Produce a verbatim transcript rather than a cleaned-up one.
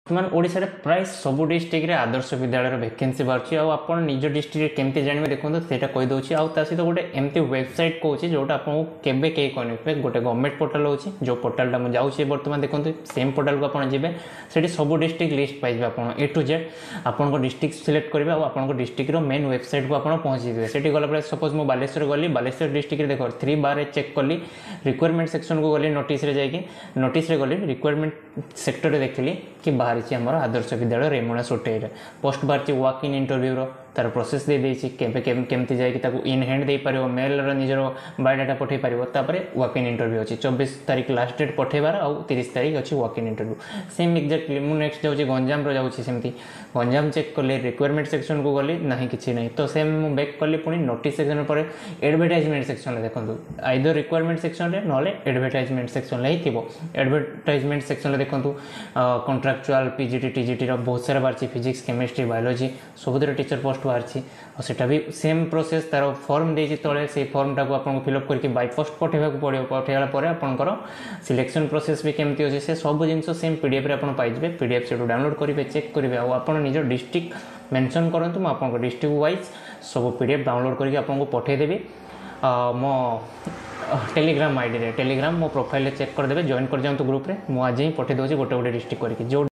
ବର୍ତ୍ତମାନ ଓଡ଼ିଶାରେ ପ୍ରାୟ ସବୁ ଡିଷ୍ଟ୍ରିକ୍ଟରେ ଆଦର୍ଶ ବିଦ୍ୟାଳୟର ଭେକେନ୍ସି ବାହାରୁଛି ଆଉ ଆପଣ ନିଜ ଡିଷ୍ଟ୍ରିକ୍ଟରେ କେମିତି ଜାଣିବେ ଦେଖନ୍ତୁ ସେଇଟା କହିଦେଉଛି ଆଉ ତା ସହିତ ଗୋଟେ ଏମିତି ୱେବସାଇଟ୍ କହୁଛି ଯେଉଁଟା ଆପଣଙ୍କୁ କେବେ କେହି କହିନଥିବେ ଗୋଟେ ଗଭର୍ଣ୍ଣମେଣ୍ଟ ପୋର୍ଟାଲ ହେଉଛି ଯେଉଁ ପୋର୍ଟାଲଟା ମୁଁ ଯାଉଛି ବର୍ତ୍ତମାନ ଦେଖନ୍ତୁ ସେମ୍ ପୋର୍ଟାଲକୁ ଆପଣ ଯିବେ ସେଠି ସବୁ ଡିଷ୍ଟ୍ରିକ୍ଟ ଲିଷ୍ଟ ପାଇଯିବେ ଆପଣ ଏ ଟୁ ଜେଡ୍ ଆପଣଙ୍କ ଡିଷ୍ଟ୍ରିକ୍ଟ ସିଲେକ୍ଟ କରିବେ ଆଉ ଆପଣଙ୍କ ଡିଷ୍ଟ୍ରିକ୍ଟର ମେନ୍ ୱେବସାଇଟ୍କୁ ଆପଣ ପହଞ୍ଚିଯିବେ ସେଠି ଗଲା ପରେ ସପୋଜ୍ ମୁଁ ବାଲେଶ୍ୱର ଗଲି ବାଲେଶ୍ୱର ଡିଷ୍ଟ୍ରିକ୍ଟରେ ଦେଖ ଥ୍ରୀ ବାରରେ ଚେକ୍ କଲି ରିକ୍ୱାରମେଣ୍ଟ ସେକ୍ସନକୁ ଗଲି ନୋଟିସ୍ରେ ଯାଇକି ନୋଟିସ୍ରେ ଗଲି ରିକ୍ୱାରମେଣ୍ଟ ସେକ୍ଟରରେ ଦେଖିଲି କି ବାହାରିଛି ଆମର ଆଦର୍ଶ ବିଦ୍ୟାଳୟ ରେମୁଣା ସୋଟେଇରେ ପୋଷ୍ଟ ବାହାରିଛି ୱାକ୍ ଇନ୍ ଇଣ୍ଟରଭ୍ୟୁର ତାର ପ୍ରୋସେସ୍ ଦେଇଦେଇଛି କେବେ କେମିତି ଯାଇକି ତାକୁ ଇନ୍ ହ୍ୟାଣ୍ଡ ଦେଇପାରିବ ମେଲ୍ର ନିଜର ବାୟୋଡାଟା ପଠାଇ ପାରିବ ତାପରେ ୱାକ୍ ଇନ୍ ଇଣ୍ଟରଭ୍ୟୁ ଅଛି ଚବିଶ ତାରିଖ ଲାଷ୍ଟ ଡେଟ୍ ପଠାଇବାର ଆଉ ତିରିଶ ତାରିଖ ଅଛି walk in interview same exactly ମୁଁ ନେକ୍ସଟ ଯାଉଛି ଗଞ୍ଜାମର ଯାଉଛି ସେମିତି ଗଞ୍ଜାମ ଚେକ୍ କଲି ରିକ୍ୱାରମେଣ୍ଟ ସେକ୍ସନକୁ ଗଲି ନାହିଁ କିଛି ନାହିଁ ତ ସେମ୍ ମୁଁ ବ୍ୟାକ୍ କଲି ପୁଣି ନୋଟିସ୍ ସେକ୍ସନ ପରେ ଆଡ଼ଭର୍ଟାଇଜମେଣ୍ଟ ସେକ୍ସନରେ ଦେଖନ୍ତୁ ଆଇଦର ରିକ୍ୱାରମେଣ୍ଟ ସେକ୍ସନରେ ନହେଲେ ଆଡ଼ଭର୍ଟାଇଜମେଣ୍ଟ ସେକ୍ସନରେ ହିଁ ଥିବ ଆଡ଼ଭର୍ଟାଇଜମେଣ୍ଟ ସେକ୍ସନରେ ଦେଖନ୍ତୁ contractual P G T T G ଟିର ବହୁତ ସାରା ବାହାରିଛି ଫିଜିକ୍ସ କେମିଷ୍ଟ୍ରି ବାୟୋଲୋଜି ସବୁଥିରେ ଟିଚର ପୋଷ୍ଟ ବାହାରିଛି ଆଉ ସେଇଟା ବି ସେମ୍ ପ୍ରୋସେସ୍ ତାର ଫର୍ମ ଦେଇଛି ତଳେ ସେଇ ଫର୍ମଟାକୁ ଆପଣଙ୍କୁ ଫିଲ୍ଅପ୍ କରିକି ବାଇ ପୋଷ୍ଟ ପଠାଇବାକୁ ପଡ଼ିବ ପଠାଇଲା ପରେ ଆପଣଙ୍କର ସିଲେକ୍ସନ୍ ପ୍ରୋସେସ୍ ବି କେମିତି ଅଛି ସେ ସବୁ ଜିନିଷ ସେମ୍ ପି ଡି ଏଫ୍ରେ ଆପଣ ପାଇଯିବେ ପି ଡି ଏଫ୍ ସେଠୁ ଡାଉନଲୋଡ଼ କରିବେ ଚେକ୍ କରିବେ ଆଉ ଆପଣ ନିଜ ଡିଷ୍ଟ୍ରିକ୍ଟ ମେନସନ୍ କରନ୍ତୁ ମୁଁ ଆପଣଙ୍କ ଡିଷ୍ଟ୍ରିକ୍ଟ ୱାଇଜ୍ ସବୁ ପି ଡି ଏଫ୍ ଡାଉନଲୋଡ଼ କରିକି ଆପଣଙ୍କୁ ପଠାଇଦେବି ମୋ ଟେଲିଗ୍ରାମ ଆଇଡ଼ିରେ ଟେଲିଗ୍ରାମ ମୋ ପ୍ରୋଫାଇଲରେ ଚେକ୍ କରିଦେବେ ଜଏନ୍ କରିଯାଆନ୍ତୁ ଗ୍ରୁପ୍ରେ ମୁଁ ଆଜି ହିଁ ପଠାଇ ଦେଉଛି ଗୋଟେ ଗୋଟେ ଡିଷ୍ଟ୍ରିକ୍ଟ କରିକି ଯେଉଁ